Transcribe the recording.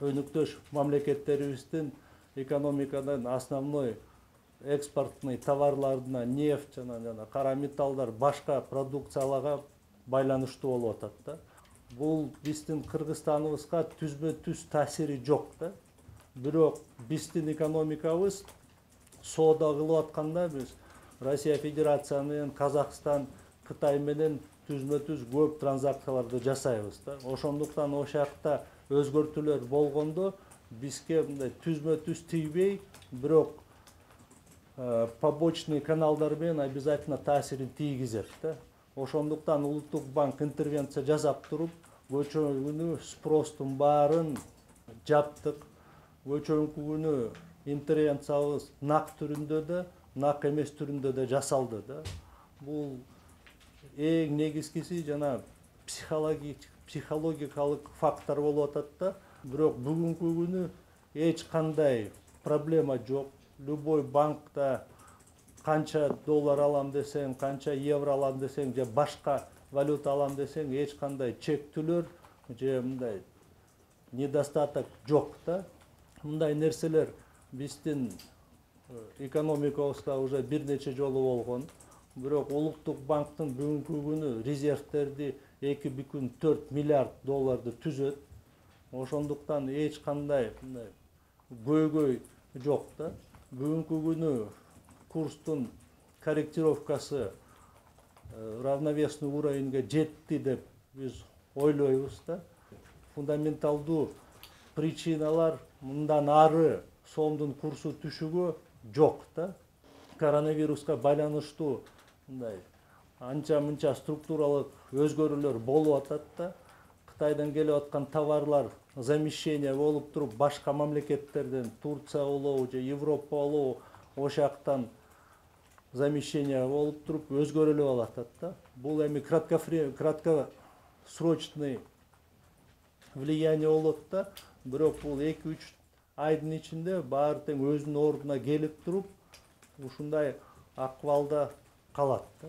өнүктөш мамлекеттерибиздин экономикадан основной экспортный товарларына нефть жана кара металлдар, башка продукцияларга байланыштуу болуп атат да. Бул биздин Кыргызстаныбызга түзмө-түз таасири жок да. Бирок биздин экономикабыз соода кылып атканда биз Россия Федерация менен, Казакстан, Кытай менен түзмө-түз көп транзакцияларды жасайбыз да. Ошондуктан ошол жакта өзгөртүүлөр болгондо бизге мындай түзмө-түз тийбей, бирок побочный каналдар менен обязательно таасирин тийгизет да. Ошондуктан Улуттук банк интервенция жасап туруп, көчөмү күнү спростун баарын жаптык. Көчөмү күнү интервенциябыз нак түрүндө да, нак эмес түрүндө да жасалды да. Бул эң негизгиси жана психологикалык фактор болуп атат да. Бирок бүгүнкү күнү эч кандай проблема жок. Любой банкта канча доллар алам десең, канча евро алам десең, же башка валюта алам десең, эч кандай чектүүлөр же мындай недостаток жок да. Мындай нерселер биздин экономикабызда уже бир нече жолу болгон. Бирок Улуттук банктын бүгүнкү күнү резервтерди 2,4 миллиард долларды түзөт. Ошондуктан эч кандай мындай көйгөй жок да. Бүгүнкү күнү курстун корректировкасы равновесный уровеньге жетти деп биз ойлойбуз да. Фундаменталдуу причиналар мындан ары сомдун курсу түшүүгө жок да. Коронавируска байланыштуу мындай анча-мынча структуралык өзгөрүүлөр болуп атат да. Кытайдан келип аткан товарлар замещение болуп туруп, башка мамлекеттерден, Турция болобу же Европа болобу, ошол жактан замещение болуп туруп өзгөрүлүп алатат да. Бул эми краткосрочный влияние болот да. Бирок бул 2-3 айдын ичинде баары тең өзүнүн ордуна келип туруп, ушундай акыбалда калат да.